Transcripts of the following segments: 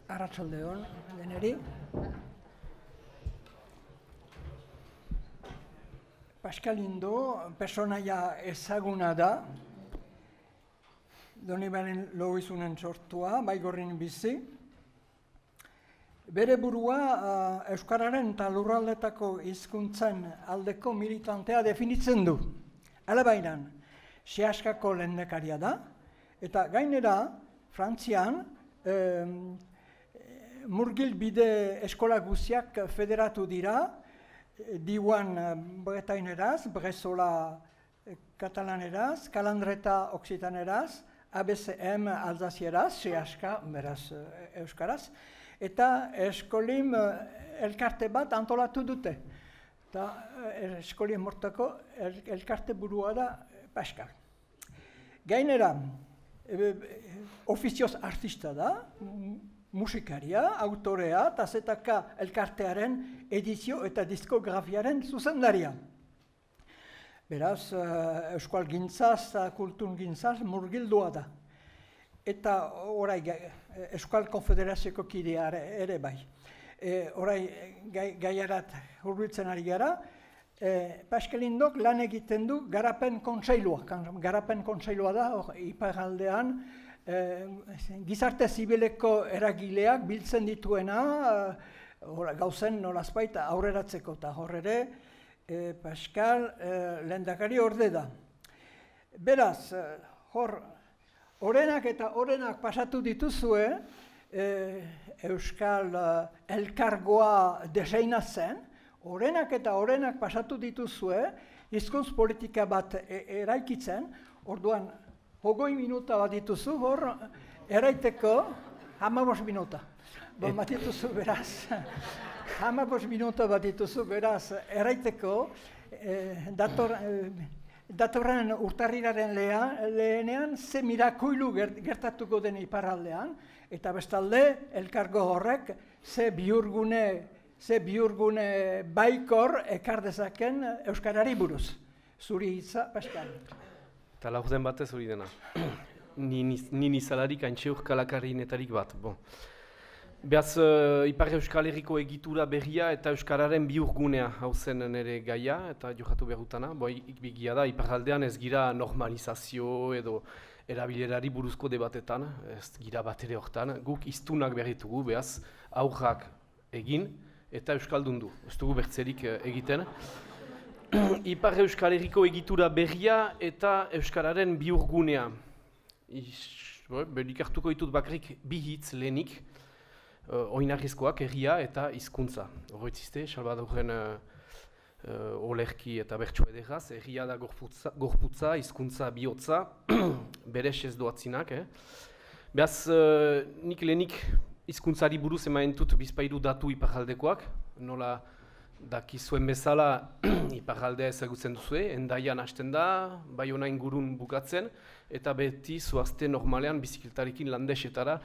Arratsalde on deneri. Pascal Indo personaia ezaguna da. Donibane Loizunen sortua, Baigorrin bizi. Bere burua euskararen eta lurraldetako hizkuntzen aldeko militantea definitzen du. Alabairan, Seaskako lehendakaria da, eta gainera, Frantzian, murgilbide eskola guztiak federatu dira, Diwan bretaineraz, Brezola katalaneraz, Kalandreta oksitaneraz, ABCM alzazieraz, Seaska, beraz euskaraz, eta eskolim elkarte bat antolatu dute. Eta eskolim mortako elkarte burua da Pascal. Gainera, ofizioz artista da, musikaria, autorea, eta zetaka elkartearen edizio eta diskografiaren zuzendaria. Beraz, euskal gintzaz, kultur gintzaz, murgildua da. Eta orai, Euskal Konfederazioko kidea ere bai. Orai, gaiarat hurbiltzen ari gara, Pascal Indok lan egiten du Garapen Kontseilua. Garapen Kontseilua da, iparraldean, gizarte zibileko eragileak biltzen dituena, gauzen nolazbait aurreratzeko, eta hor ere, Pascal lehendakari orde da. Beraz, hor, orenak eta orenak pasatu dituzue, Euskal elkargoa deseinatzen, orenak eta orenak pasatu dituzue, hizkuntz politika bat eraikitzen, orduan, 20 minuta bat dituzu, hor, eraiteko, 15 minuta. Bat dituzu beraz, 15 minuta bat dituzu beraz, eraiteko, datorren urtarrilaren lehenean, ze mirakoilu gertatuko den iparraldean, eta bestalde, elkargo horrek, ze bihurgune baikor ekar dezaken euskarari buruz. Zuri hitza, Pascal. Eta laurden batez hori dena. Ni nizalarik haintxe urkalakarrinetarik bat. Beaz, Ipar Euskal Herriko egitura berria eta Euskararen bihurgunea hau zen nire gaia eta jokatu behutana. Ikbigia da, iparraldean ez gira normalizazio edo erabilerari buruzko debatetan, ez gira bat ere hortan. Guk hiztunak berritugu, beaz, aurrak egin eta Euskaldundu. Ez dugu bertzerik egiten. Ipar Euskal Herriko egitura berria eta Euskararen bihurgunea. Ikartuko ditut bakarrik bi hitz lehenik, oinarrizkoak herria eta hizkuntza. Horretzizte, Salvadorren olerki eta bertso ederraz, herria da gorputza, hizkuntza bihotza, berez ez doatzinak. Beaz, nik lehenik hizkuntzari buruz emaen dut bizpairu datu iparraldekoak, nola dakizuen bezala iparraldea ezagutzen duzue, Hendaian hasten da, Baiona ingurun bukatzen, eta beti zoazte normalean bizikletarekin landesetara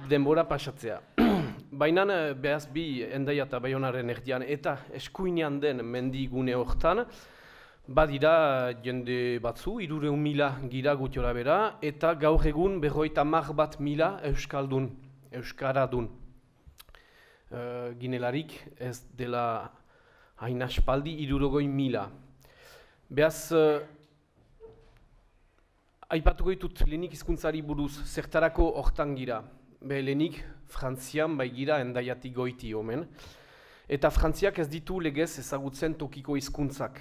denbora pasatzea. Baina behaz bi Hendaia eta Baionaren erdian eta eskuinean den mendigune hortan, badira jende batzu, 300.000 gira gutiora bera, eta gaur egun 51.000 euskaldun, euskaradun. Ginelarik ez dela hain aspaldi 60.000. Beaz, aipatuko ditut lehenik hizkuntzari buruz zertarako hortan gira. Lehenik Frantzian bai gira Hendaiatik goiti omen. Eta Frantziak ez ditu legez ezagutzen tokiko hizkuntzak.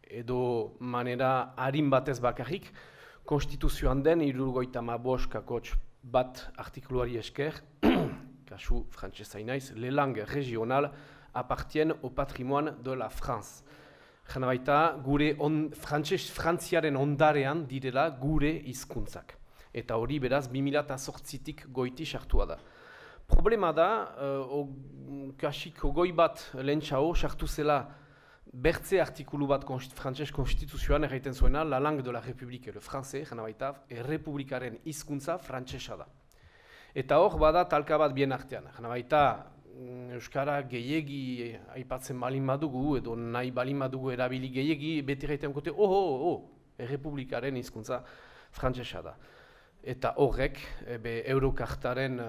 Edo manera harin batez bakarrik, konstituzioan den 75 kakotx bat artikuluari esker, kasu frantsesa inaiz, les langues régionales appartiennent au patrimoine de la France. Jena baita, gure frantziaren ondarean direla gure hizkuntzak. Eta hori beraz 2008tik goiti sartua da. Problema da, kasik goi bat lehentxao sartu zela bertze artikulu bat frantzes konstituzioan erraiten zuena, la langue de la République, le français, jena baita, errepublikaren hizkuntza frantsesa da. Eta hor, bada talka bat bien artean. Jena baita, Euskara gehiegi aipatzen balin badugu, edo nahi balin badugu erabili gehiegi, beti gaiten kote, errepublikaren hizkuntza frantsesa da. Eta horrek, Eurokartaren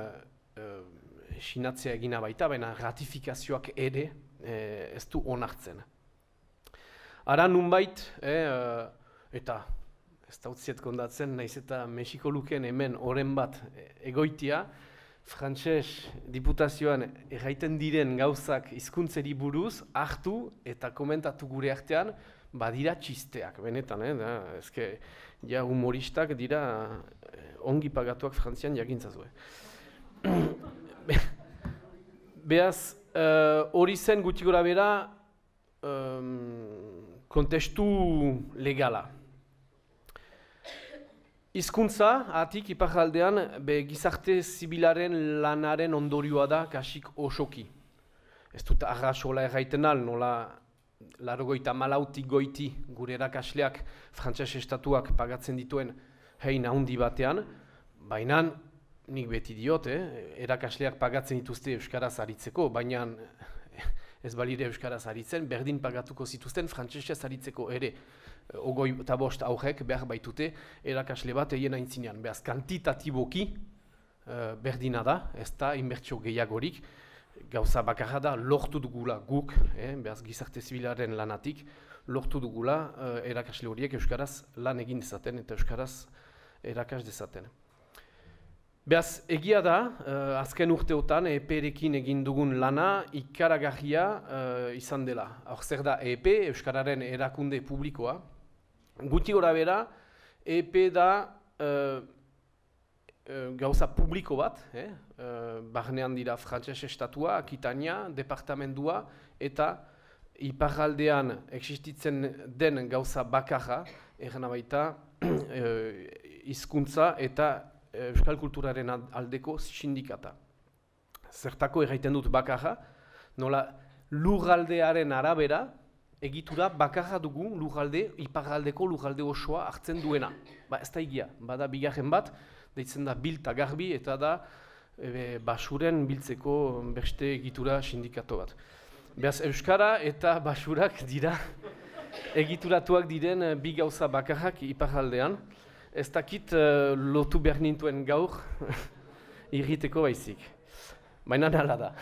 sinatzea egina baita, baina ratifikazioak ere ez du onartzen. Ara nunbait, eta ez da utziet kondatzen, naiz eta Mexiko luken hemen oren bat egoitia, frantses diputazioan erraiten diren gauzak hizkuntzeri buruz hartu eta komentatu gure artean badira txisteak, benetan, ezke ja humoristak dira ongi pagatuak Frantzian jakintzazue. Beaz, hori zen gutxi gora bera kontestu legala. Hizkuntza, atik iparraldean, gizarte zibilaren lanaren ondorioa da kasik osoki. Ez dut arrasola erraiten al, nola 84 goiti gure erakasleak frantses estatuak pagatzen dituen hein handi batean, baina nik beti diot, erakasleak pagatzen dituzte euskaraz aritzeko, baina ez balire euskaraz aritzen, berdin pagatuko zituzten frantsesez aritzeko ere. 25 aurrek behar baitute erakasle bat egin aintzinean. Beaz, kantitatiboki berdina da, ez da inbertsio gehiagorik, gauza bakarra da lortu dugula guk, beaz, gizarte zibilaren lanatik, lortu dugula erakasle horiek euskaraz lan egin dezaten eta euskaraz erakas dezaten. Beaz, egia da, azken urteotan EP-rekin egin dugun lana ikaragarria izan dela. Hor zer da EP, Euskararen erakunde publikoa. Guti gora bera, EP da gauza publiko bat, barnean dira frantses estatua, Akitania, departamendua, eta iparraldean existitzen den gauza bakarra, erran baita, hizkuntza eta euskal kulturaren aldeko sindikata. Zertako erraiten dut bakarra, nola lurraldearen arabera, egitura bakarra dugu lurralde, iparraldeko lurralde osoa hartzen duena. Ez da egia, bada bigarren bat, deitzen da bilta garbi eta da basuren biltzeko beste egitura sindikato bat. Beaz, euskara eta basurak dira egituratuak diren bi gauza bakarrak iparraldean. Ez dakit lotu behar nintuen gaur irriteko baizik. Baina nala da.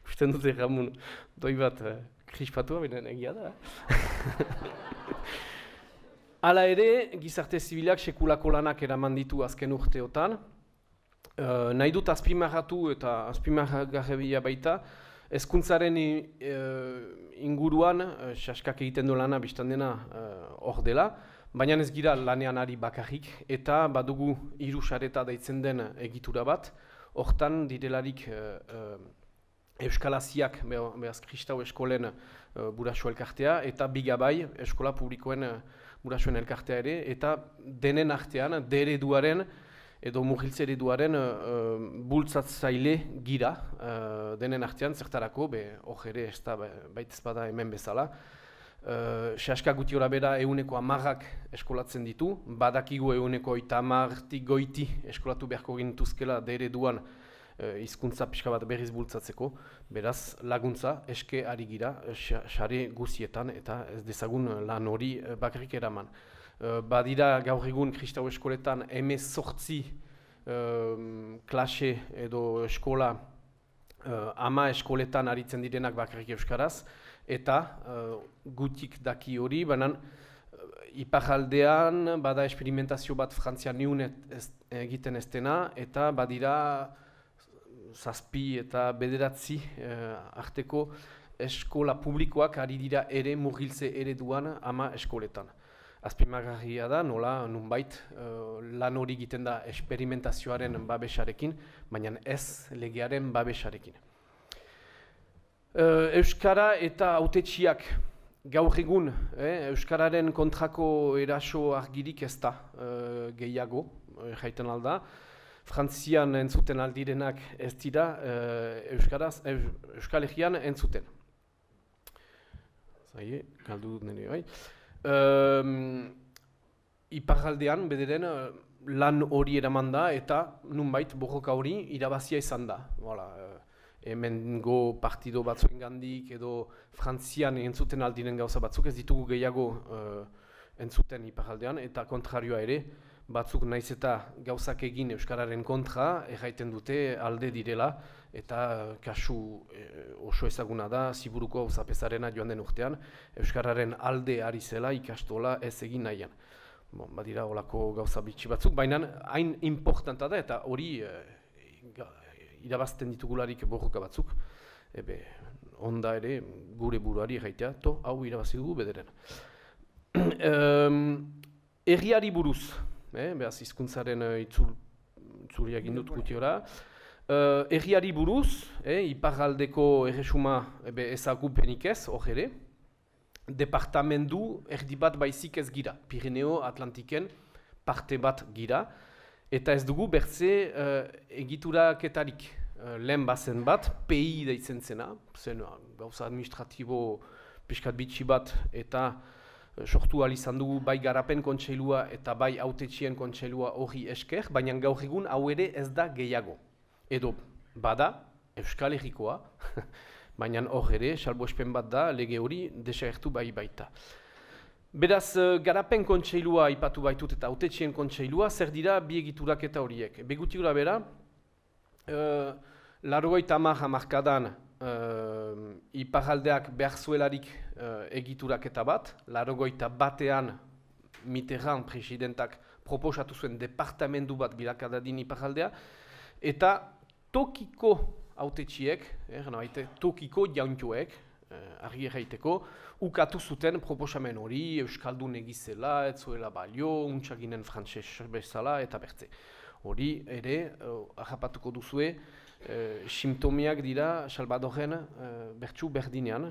Usten dute Ramon doi bat krispatua, baina egia da. Hala ere, gizarte zibilak sekulako lanak eraman ditu azken urteotan. Nahi dut azpimarratu eta azpimarragarria baita, hezkuntzaren inguruan, saskak egiten du lana biztan dena hor dela, baina ez gira lanean ari bakarrik, eta badugu hiru sareta deitzen den egitura bat, hortan direlarik Euskalaziak, behaz Kristau eskolen buraso elkartea, eta Bigabai eskola publikoen burasoen elkartea ere, eta denen artean, dereduaren edo murgiltze ereduaren bultzatzaile gira, denen artean zertarako, hor ere ez da baita ezpada hemen bezala. Saska guti hori bera 110 eskolatzen ditu, badakigu 130 goiti eskolatu beharko gintuzkela dereduan hizkuntza pixka bat berriz bultzatzeko, beraz laguntza eske ari gira sare guzietan eta ez dezagun lan hori bakarrik eraman. Badira gaur egun Kristau eskoletan 18 klase edo eskola 10 eskoletan aritzen direnak bakarrik euskaraz, eta gutik daki hori, baina iparraldean bada esperimentazio bat Frantzian niun egiten ez dena, eta badira 7 eta 9 arteko eskola publikoak ari dira ere murgiltze ereduan 10 eskoletan. Azpimargarria da, nola nunbait lan hori egiten da esperimentazioaren babesarekin, baina ez legearen babesarekin. Euskara eta hautetsiak gaur egun, Euskararen kontrako eraso argirik ez da gehiago, jaiten alda. Frantzian entzuten aldirenak ez dira Euskal Herrian entzuten. Zaie, galdu dut nire bai. Iparraldean bederen lan hori eraman da eta nunbait borroka hori irabazia izan da. Hemengo partido batzuen gandik edo Frantzian entzuten aldiren gauza batzuk ez ditugu gehiago entzuten iparraldean eta kontrarioa ere batzuk naiz eta gauzak egin euskararen kontra, erraiten dute alde direla, eta kasu oso ezaguna da, Ziburuko auzapezarena joan den urtean, euskararen alde ari zela ikastola ez egin nahian. Badira olako gauza bitxi batzuk, baina hain importanta da, eta hori irabazten ditugularik borroka batzuk, onda ere gure buruari erraitea, hau irabazi dugu bederen. Herriari buruz, behaz hizkuntzaren itzuri egin dut gutiora. Herriari buruz, iparraldeko erresuma ezagupenik ez, hor ere. Departamendu erdi bat baizik ez gira, Pirineo Atlantiken parte bat gira. Eta ez dugu bertze egituraketarik lehen bazen bat, PI deitzen zena, zen gauza administratibo pixkat bitxi bat eta sortu izan dugu bai garapen kontseilua eta bai hautetxien kontseilua hori esker, baina gaur egun hau ere ez da gehiago. Edo bada, Euskal Herrikoa, baina hor ere, salbuespen bat da, lege hori desagertu bai baita. Beraz, garapen kontseilua aipatu baitut eta hautetxien kontseilua, zer dira bi egiturak eta horiek. Begutikura bera, 80 hamarkadan iparraldeak behar zuelarik egituraketa bat, 81ean Mitterrand presidentak proposatu zuen departamendu bat bilakadadin iparraldea, eta tokiko hautetxiek, tokiko jauntuek, argi erraiteko, ukatu zuten proposamen hori, Euskaldun egizela, ez zuela balio, untxaginen frantses bezala, eta bertze. Hori ere, ahapatuko duzue, simptomiak dira Salvadorren bertsu berdinean,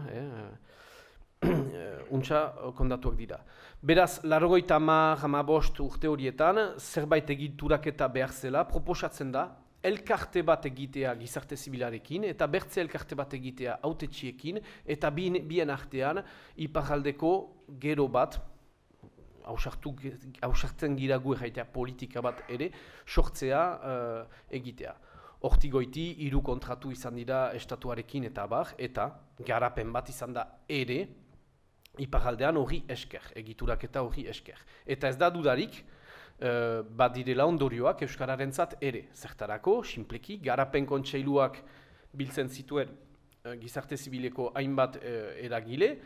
untxa kondatuak dira. Beraz, 85 urte horietan, zerbait egituraketa behar zela, proposatzen da, elkarte bat egitea gizarte zibilarekin, eta bertze elkarte bat egitea hautetxiekin, eta bien artean, iparraldeko gero bat, hausartzen gira gu erraitea politika bat ere, sortzea egitea. Hortigoiti, 3 kontratu izan dira estatuarekin eta abar, eta garapen bat izan da ere, iparraldean hori esker, egituraketa hori esker. Eta ez da dudarik, badirela ondorioak euskararentzat ere. Zertarako, sinpleki, garapen kontseiluak biltzen zituen gizarte zibileko hainbat eragile,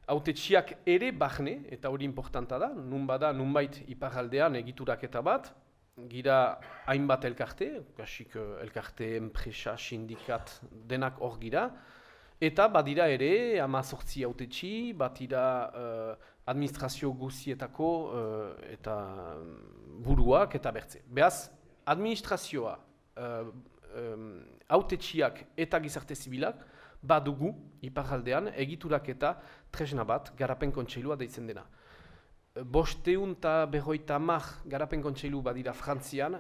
hautetxiak ere bahne, eta hori importanta da, nunbait iparraldean egituraketa bat, gira hainbat elkarte, kasik elkarte, enpresa, sindikat, denak hor gira, eta badira ere, 18 hautetxi, badira administrazio guzietako eta buruak eta bertze. Beaz, administrazioa, hautetxiak eta gizarte zibilak badugu iparraldean egiturak eta tresna bat garapen kontseilua deitzen dena. 550 garapen kontseilu badira Frantzian,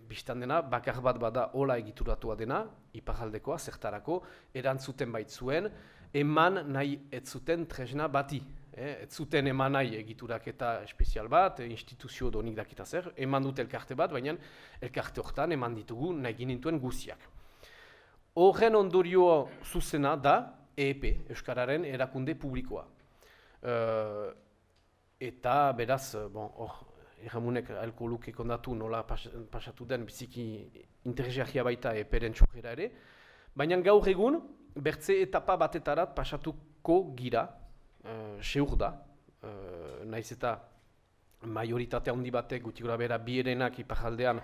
biztan dena, bakar bat bada hola egituratua dena, iparraldekoa, zertarako, erantzuten baitzuen, eman nahi ez zuten tresna bati. Ez zuten eman nahi egituraketa espezial bat, instituzio donik dakita zer, eman dut elkarte bat, baina elkarte horretan eman ditugu nahi ginintuen guziak. Horren ondorio zuzena da EEP, Euskararen erakunde publikoa. Eta beraz, erramunek ahalko luke kondatu nola pasatu den biziki interesgarria baita EEPren txokera ere, baina gaur egun, bertze etapa batetarat pasatuko gira, seur da, naiz eta majoritate handi batek, guti gora bera bierenak iparraldean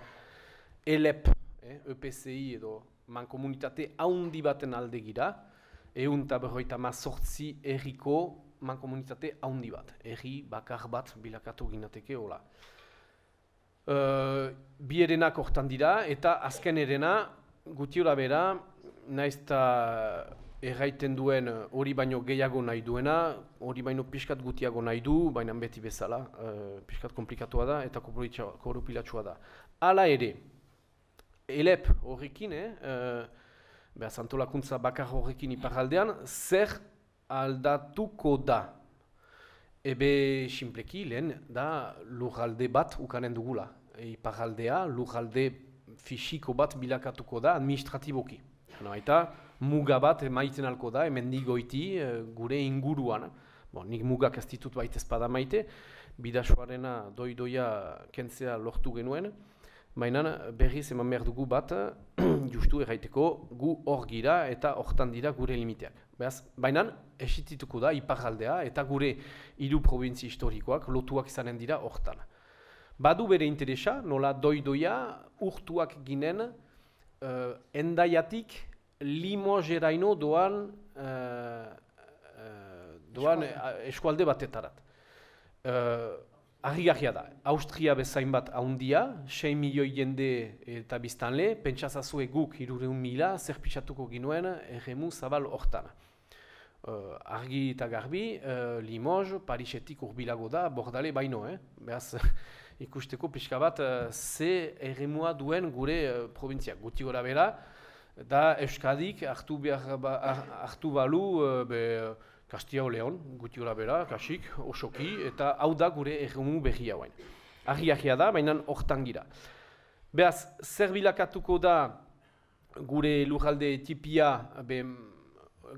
ELEP, EPCI edo mankomunitate handi baten alde gira, 158 erriko mankomunitate handi bat, erri bakar bat bilakatu ginateke hola. Bierenak hortan dira eta azken erena, guti gora bera, naiz eta erraiten duen hori baino gehiago nahi duena, hori baino pixkat gutiago nahi du, baina beti bezala, pixkat komplikatua da eta korrupilatsua da. Hala ere, ELEP horrekin, antolakuntza bakar horrekin iparraldean, zer aldatuko da? Ebe sinpleki lehen da lurralde bat ukanen dugula. Iparraldea lurralde fisiko bat bilakatuko da administratiboki. Eta muga bat maiten alko da, hemen goiti gure inguruan. Nik mugak ez ditut baita ezpada maite, Bidasoarena doi-doia kentzea lortu genuen, baina berriz eman behar dugu bat, justu erraiteko, gu hor gira eta hortan dira gure limiteak. Baina esitituko da iparraldea eta gure hiru probintzi historikoak lotuak izanen dira hortan. Badu bere interesa, nola doi-doia urtuak ginen Endaiatik Limoseraino doan eskualde batetarat. Argi-garria da, Austria bezain bat haundia, 6 milioi jende eta biztanle, pentsazazue guk 300.000 zer pixatuko ginuen erremu zabal hortan. Argi eta garbi, Limoges, Parisetik urbilago da, Bordale baino, behaz ikusteko pixka bat ze erremua duen gure probintziak. Guti gora bera, da Euskadik hartu balu Castilla y León, guti gora bera, kasik, osoki, eta hau da gure erremu berria hauen. Argi-garria da, baina hortan gira. Behaz, zer bilakatuko da gure lurralde tipia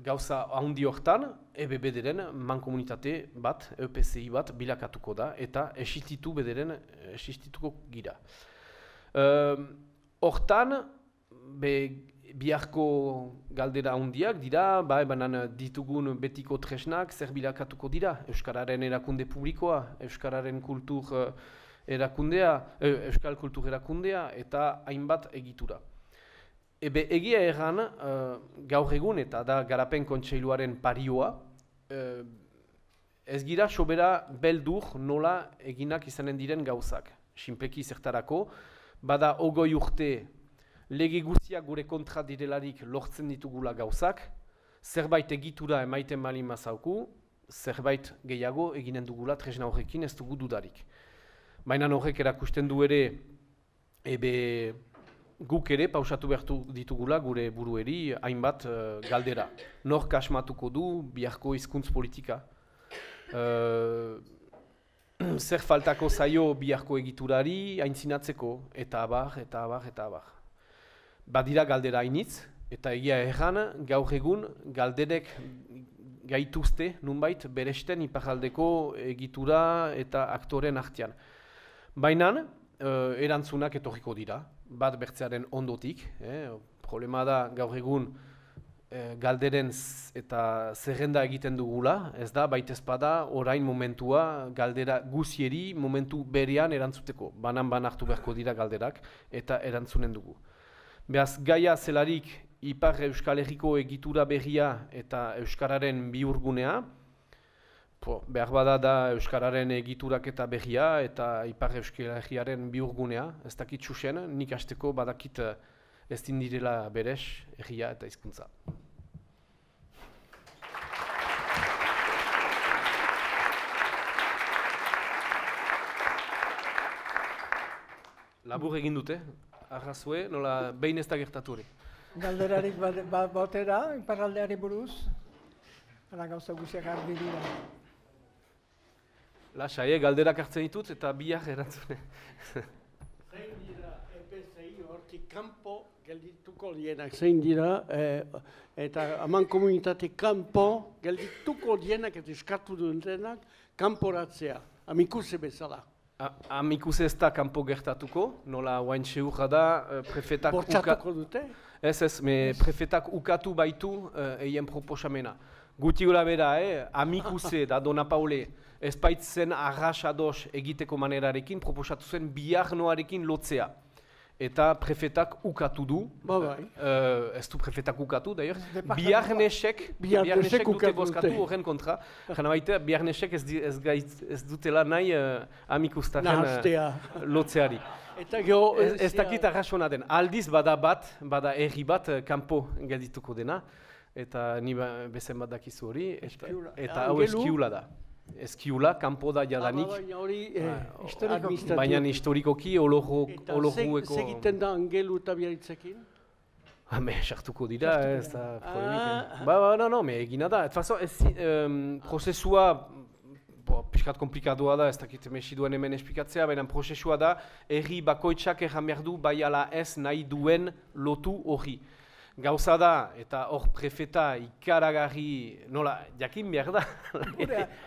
gauza handi hortan, EBB-deren mankomunitate bat, EPCI bat bilakatuko da, eta existituko gira. Hortan, biharko galdera handiak dira, banan ditugun betiko tresnak zer bilakatuko dira, Euskararen erakunde publikoa, Euskararen kultur erakundea, Euskal kultur erakundea, eta hainbat egitura. Egia erran, gaur egun eta da Garapen Kontseiluaren parioa, ez gira sobera beldur nola eginak izanen diren gauzak. Sinpleki zertarako, bada 20 urte lege guztiak gure kontra direlarik lortzen ditugula gauzak, zerbait egitura emaiten malin mazauku, zerbait gehiago eginen dugula tresna horrekin ez dugu dudarik. Baina horrek erakusten du ere, guk ere pausatu behartu ditugula gure burueri hainbat galdera. Nork asmatuko du biharko hizkuntz politika? Zer faltako zaio biharko egiturari aintzinatzeko? Eta abar, eta abar, eta abar. Badira galdera hainitz, eta egia erran gaur egun galderek gaituzte nunbait beresten iparraldeko egitura eta aktoren artean. Baina erantzunak etorriko dira, bat bertzearen ondotik. Problema da gaur egun galderen eta zerrenda egiten dugula, ez da, baitezpada orain momentua galdera guzieri momentu berean erantzuteko. Banan hartu beharko dira galderak eta erantzunen dugu. Beaz, gaia zelarik Ipar Euskal Herriko egitura berria eta Euskararen bihurgunea, behar bada da Euskararen egiturak eta berria eta Ipar Euskal Herriaren bihurgunea, ez dakit xuxen, nik hasteko badakit ez direla berez herria eta hizkuntza. Labur egin dute, arrazue, nola behin ez da gertatu hori. Galderarik batera, iparraldeari buruz, ala gauza guziak argi dira. Lasai, galderak hartzen ditut eta biak erantzune. Zein dira EPCI hortik kanpo geldituko dienak, zein dira, eta haman komunitatik kanpo geldituko dienak eta eskatu dutenak kanporatzea, amikuse bezala. Amikuse ez da kanpo gertatuko, nola oain seurra da prefetak bortxatuko dute? Ez, prefetak ukatu baitu eien proposamena. Guti gura bera, amikuse da Dona Paule ez baitzen arrasados egiteko manerarekin proposatu zen biharnoarekin lotzea. Eta prefetak ukatu du, ez du prefetak ukatu, biharnesek dute bozkatu horren kontra. Jana baita, biharnesek ez dutela nahi amikustaren lotzeari. Ez dakit arrasona den. Aldiz bada erri bat kanpo geldituko dena, eta ni bezen bat dakizu hori, eta hau eskiula da. Eskiula, kanpo da jadanik, baina historikoki olohueko... Eta segiten da Angelu eta Biarritzekin? Sartuko dira, ez da polemik. Egina da. Prozesua, piskat komplikadua da, ez dakit mesiduen hemen esplikatzea, baina prozesua da, herri bakoitzak erran behar du bai ala ez nahi duen lotu hori. Gauza da, eta hor prefeta ikaragarri, nola, jakin behar da.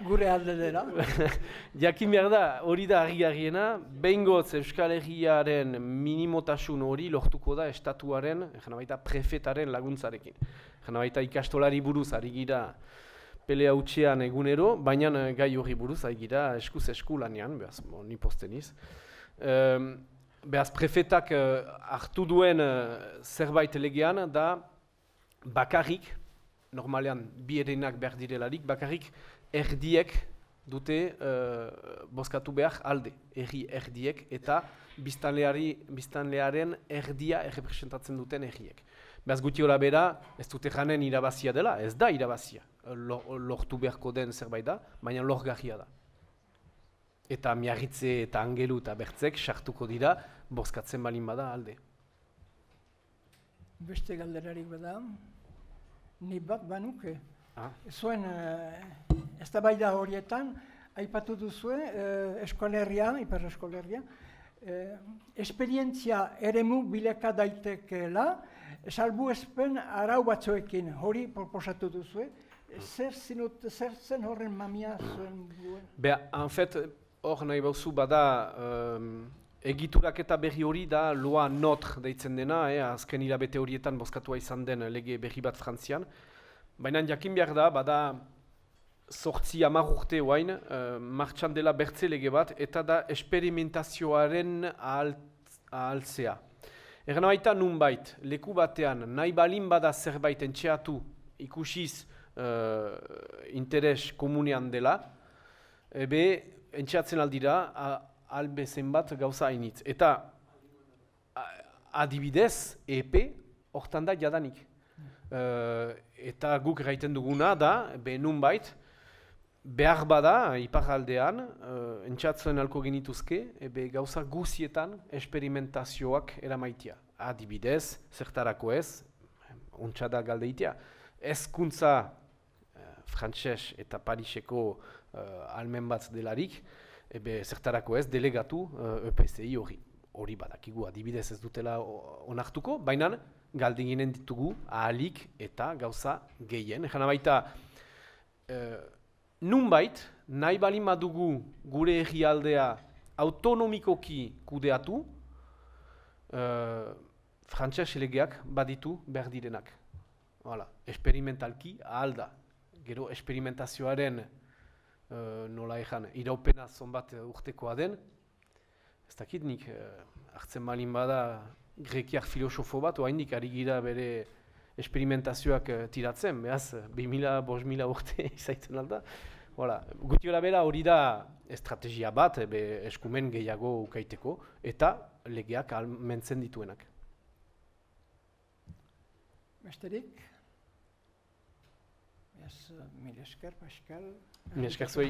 Gure alde dela. Jakin behar da, hori da harri-harriena, behingoz Euskal Herriaren minimotasun hori lortuko da estatuaren, baita prefetaren laguntzarekin. Baita ikastolari buruz ari gira pelea utxean egunero, baina gai hori buruz ari gira eskuz esku lanean, behaz, ni posteniz. Behaz, prefetak hartu duen zerbait legean da bakarrik, normalean bi erenak behar direlarik, bakarrik erdiek dute bozkatu behar alde, erdiek eta biztanlearen erdia errepresentatzen duten erdiek. Behaz guti hori bera, ez dute janen irabazia dela, ez da irabazia, lortu beharko den zerbait da, baina lorgarria da. Eta Miarritze eta Angelu eta Bertzek sartuko dira, bozkatzen balin bada alde. Beste galderarik bada, ni bat banuke. Zuen, eztabaida horietan, aipatu duzue, eskolerria, Ipar Eskolerria, esperientzia eremu bilaka daitekeela, salbuespen arau batzuekin, hori proposatu duzue, zer zen horren mamia zuen duen? En fait, hor nahi bauzu bada egiturak eta berri hori da loa notre deitzen dena, azken hilabete horietan bozkatua izan den lege berri bat Frantzian. Baina jakin behar da, bada 8-10 urte oain, martxan dela bertze lege bat, eta da esperimentazioaren ahaltzea. Erna baita nunbait, leku batean nahi balin bada zerbait entxeatu ikusiz interes komunean dela, entxeatzen aldira, albezen bat gauza hainitz. Eta adibidez, EP, hortan da jadanik. Eta guk gaiten duguna da, nunbait, behar bada, iparaldean, entxeatzen alko genituzke, gauza guzietan esperimentazioak eramaitia. Adibidez, zertarako ez, ontsa da galdeitea, hezkuntza frantses eta Pariseko almen bat delarik, zertarako ez, delegatu EPCI hori badakigu, adibidez ez dutela onartuko, baina galdeginen ditugu ahalik eta gauza gehien. Jana baita, nunbait, nahi balin badugu gure herrialdea autonomikoki kudeatu, frantses legeak baditu behar direnak. Esperimentalki ahal da. Gero esperimentazioaren nola ezan, iraupena zonbat urtekoa den, ez dakit nik hartzen balin bada grekiak filosofo bat, oaindik ari gira bere esperimentazioak tiratzen, behaz, 2000-5000 urte izaiten alda. Guti hori bera hori da estrategia bat, eskumen gehiago ukaiteko, eta legeak almentzen dituenak. Besterik? Mil esker, Pascal. Mil esker zuei.